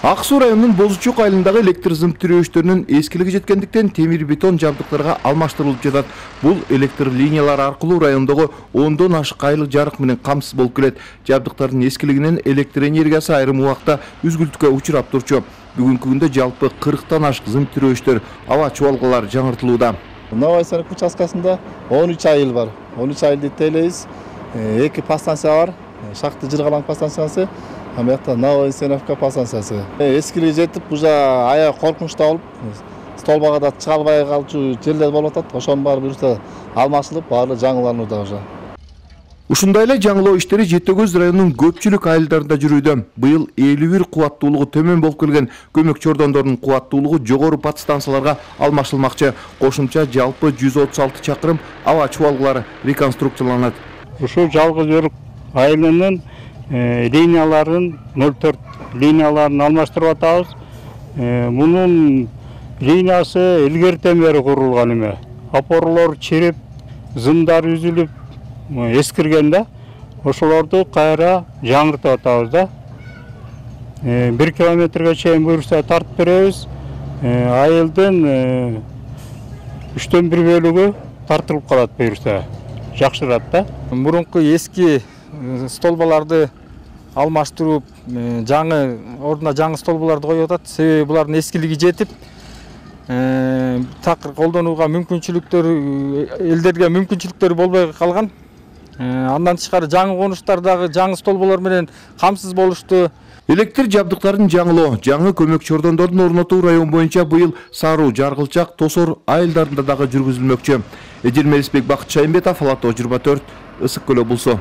Ак Суу районунун Бозучок айылындагы электр зымп тирөөчтөрүнүн эскилиги жеткендиктен темир бетон жабдыктарга алмаштырылып жатат. Бул электр линиялары аркылуу райондогу 10дон ашык айыл жарык менен камсыз болуп келет. Жабдыктардын эскилигинен электр энергиясы айрым убакта үзгүлтүккө учурап турчу. Бүгүнкү күндө жалпы 40тан ашык зымп тирөөчтөр, аба чубалгалары жаңыртылууда. Новый Санк участкасында 13 айыл бар. 13 айылды тейлейбиз. 2 подстанция бар. Шахты Жыргалаң подстанциясы, амякта Новый Санк подстанциясы. Эскилиги жетип, уже аяк коркунучта болуп, столбага да чыга албай калчу жерлер болуп атат. Ошонун баары бирсе алмашылып, баары жаңыланууда уже. Ушундай эле жаңылоо иштери Жети Көз районунун көпчүлүк айылдарында жүрүүдө. Быйыл 51 кубаттуулугу төмөн болуп келген көмөк чордондордун кубаттуулугу жогору подстанцияларга алмашылмакчы. Кошумча жалпы 136 чакырым аба чубалгалары реконструкцияланат. Ушул жалгыз өрүк айылынын линияларын 04 линияларын алмаштырып атабыз. Мунун линиясы илгертен бери курулган эме. Опорлор чирип, зымдар үзүлүп, эскирген да. Ошолорду кайра жаңыртып атабыз да. 1 километрге чейин буюрса тартып беребиз. Айылдын 3/1 бөлүгү тартылып калат буюрса. Жакшырат да. Мурунку эски столбаларды алмаштырып, жаңы ордуна жаңы столбаларды коюп атат. Себеби булардын эскилиги жетип, такыр колдонууга элдерге мүмкүнчүлүктөр болбой калган. Андан тышкары жаңы конуштардагы жаңы столбалар менен камсыз болушту. Электр жабдыктарын жаңылоо, жаңы көмөк чордондордун орнотуу район боюнча быйыл Саруу, Жаргылчак, Тосор айылдарында дагы жүргүзүлмөкчү. Эдил Мелисбек, Бакыт Шайымбетов, Ала Тоо 24, Ысык Көл облусу.